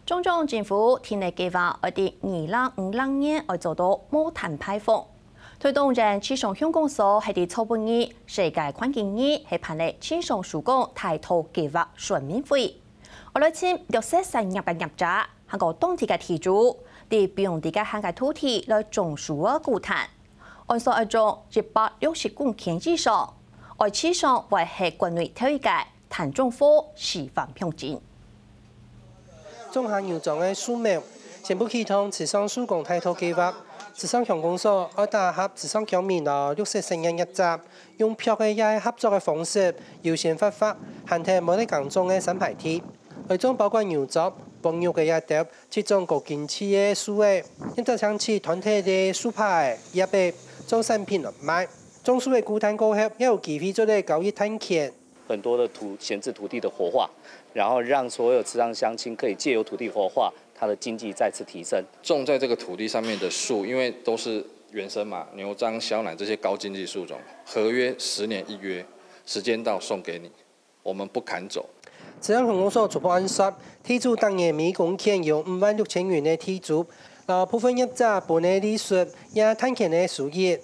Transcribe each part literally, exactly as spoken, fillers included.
中央政府定个計畫，愛在二零五零年愛做到無碳排放。推動人氣象鄉公所係在昨晡日世界環境日，係辦理氣象署公大道計畫說明會。愛來尋綠色產業个業者，還過當地个地主，在不用地个限界土地來種樹仔固碳。按算愛種一百六十公頃以上，愛至少會係國內頭一个 碳中和示範鄉鎮。種下牛樟个樹苗，先不啟動池上樹公大道計畫，池上鄉公所愛打合池上鄉民摎綠色產業業者，用projek个也係合作个方式，優先發發閒忒無得耕種个三排地，愛種包括牛樟、黃毓个這兜七種高經濟个樹仔，業者請取團體个樹杈仔、葉仔做產品來賣。種樹仔固碳過後，也有機會做得交易碳權。 很多的土，閒置土地的活化，然後讓所有池上鄉親可以藉由土地活化，它的經濟再次提升。種在這個土地上面的樹，因為都是原生嘛，牛樟、小柿這些高經濟樹種，合約十年一約，時間到送給你，我們不砍走。池上鄉公所初步按算，地主逐年每公頃有五萬六千元个地租，摎部分業者分个利息也碳權个收益。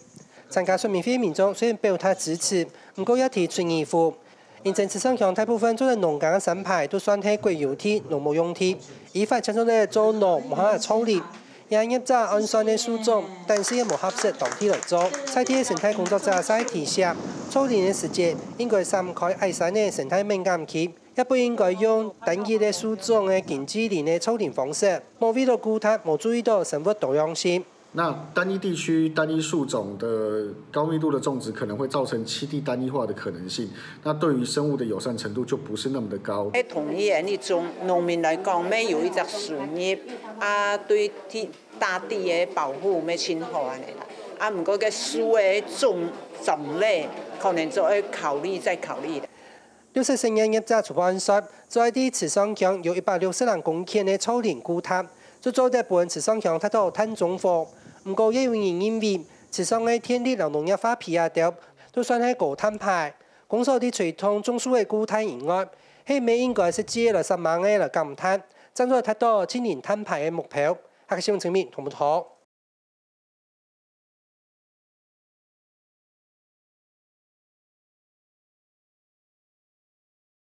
參加說明會民眾雖然表達支持，毋過也提出疑問。 因為池上鄉大部分做得農耕个山排都算係國有地、農牧用地，依法正做得做農，無辦法造林。也業者按算个樹種，但是也無合適當地來做。在地个生態工作者就提醒，造林个時節應該涵蓋矮山个生態敏感區，也不應該用單一个樹種个經濟林个造林方式，莫為著固碳，無注意著生物多樣性。 那單一地區、單一樹種的高密度的種植，可能會造成棲地單一化的可能性。那對於生物的友善程度就不是那麼的高。在同一个一種農民來講，每有一隻收入，啊，對地，大地个保護，乜盡好恁樣啦。啊，毋過个樹个種，種類，可能就愛考慮，再考慮啦。 綠色產業業者初步按算，做得在池上鄉有一百六十零公頃个造林固碳，就做得分池上鄉達到碳中和。毋過也有人認為，池上个電力摎農業化肥這兜，都算係高碳排。公所在推動種樹个固碳以外，係毋係應該實際來煞猛个來減碳，正做得達到淨零碳排个目標。客家新聞陳明同步報導。